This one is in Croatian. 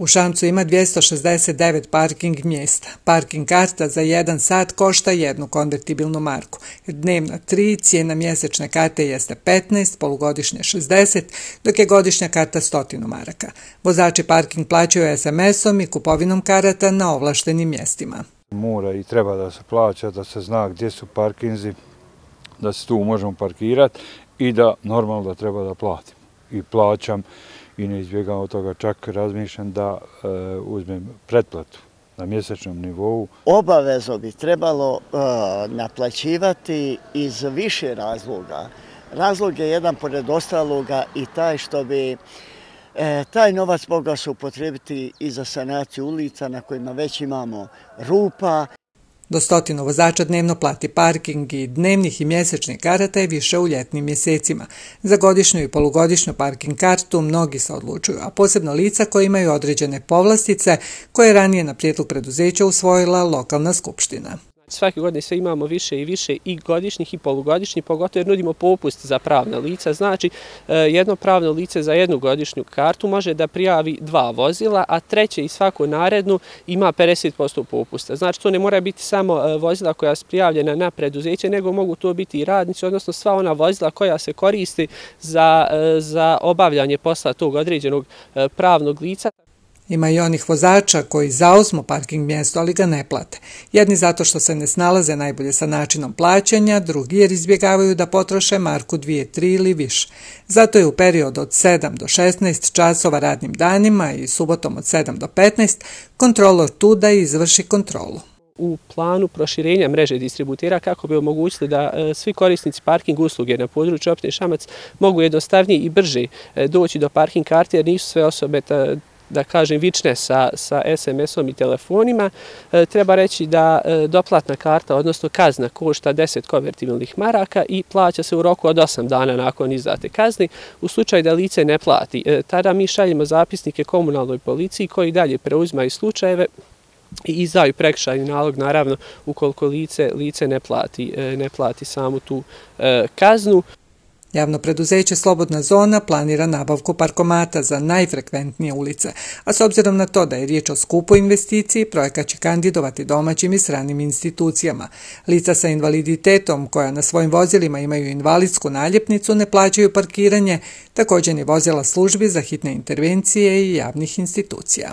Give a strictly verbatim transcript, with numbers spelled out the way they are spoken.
U Šamcu ima dvjesto šezdeset devet parking mjesta. Parking karta za jedan sat košta jednu konvertibilnu marku. Dnevna tri, cijena mjesečne karte jeste petnaest, polugodišnje šezdeset, dok je godišnja karta stotinu maraka. Vozači parking plaćaju es em esom i kupovinom karata na ovlaštenim mjestima. Mora i treba da se plaća, da se zna gdje su parkinzi, da se tu možemo parkirati i da normalno da treba da platim. I plaćam i ne izbjegam od toga, čak razmišljam da e, uzmem pretplatu na mjesečnom nivou. Obavezno bi trebalo e, naplaćivati iz više razloga. Razlog je jedan pored ostaloga i taj što bi e, taj novac mogao se upotrijebiti i za sanaciju ulica na kojima već imamo rupa. Do stotinu vozača dnevno plati parking i dnevnih i mjesečnih karata je više u ljetnim mjesecima. Za godišnju i polugodišnju parking kartu mnogi se odlučuju, a posebno lica koji imaju određene povlastice koje je ranije na prijedlog preduzeća usvojila lokalna skupština. Svake godine sve imamo više i više i godišnjih i polugodišnjih, pogotovo jer nudimo popust za pravna lica. Znači, jedno pravno lice za jednu godišnju kartu može da prijavi dva vozila, a treće i svaku narednu ima pedeset posto popusta. Znači, to ne mora biti samo vozila koja su prijavljena na preduzeće, nego mogu to biti i radnici, odnosno sva ona vozila koja se koristi za, za obavljanje posla tog određenog pravnog lica. Ima i onih vozača koji zauzmu parking mjesto, ali ga ne plate. Jedni zato što se ne snalaze najbolje sa načinom plaćanja, drugi jer izbjegavaju da potroše marku dvije, tri ili više. Zato je u periodu od sedam do šesnaest časova radnim danima i subotom od sedam do petnaest kontrolor tu da izvrši kontrolu. U planu proširenja mreže distributera kako bi omogućili da e, svi korisnici parking usluge na području opštine Šamac mogu jednostavnije i brže e, doći do parking karte, jer nisu sve osobe ta, da kažem, vične sa, sa es em esom i telefonima. E, treba reći da e, doplatna karta, odnosno kazna, košta deset konvertibilnih maraka i plaća se u roku od osam dana nakon izdate kazne. U slučaju da lice ne plati, e, tada mi šaljemo zapisnike komunalnoj policiji koji dalje preuzimaju slučajeve i izdaju prekršajni nalog, naravno, ukoliko lice, lice ne plati, e, ne plati samu tu e, kaznu. Javno preduzeće Slobodna zona planira nabavku parkomata za najfrekventnije ulice, a s obzirom na to da je riječ o skupoj investiciji, projekat će kandidovati domaćim i stranim institucijama. Lica sa invaliditetom koja na svojim vozilima imaju invalidsku naljepnicu ne plaćaju parkiranje, također ni vozila službi za hitne intervencije i javnih institucija.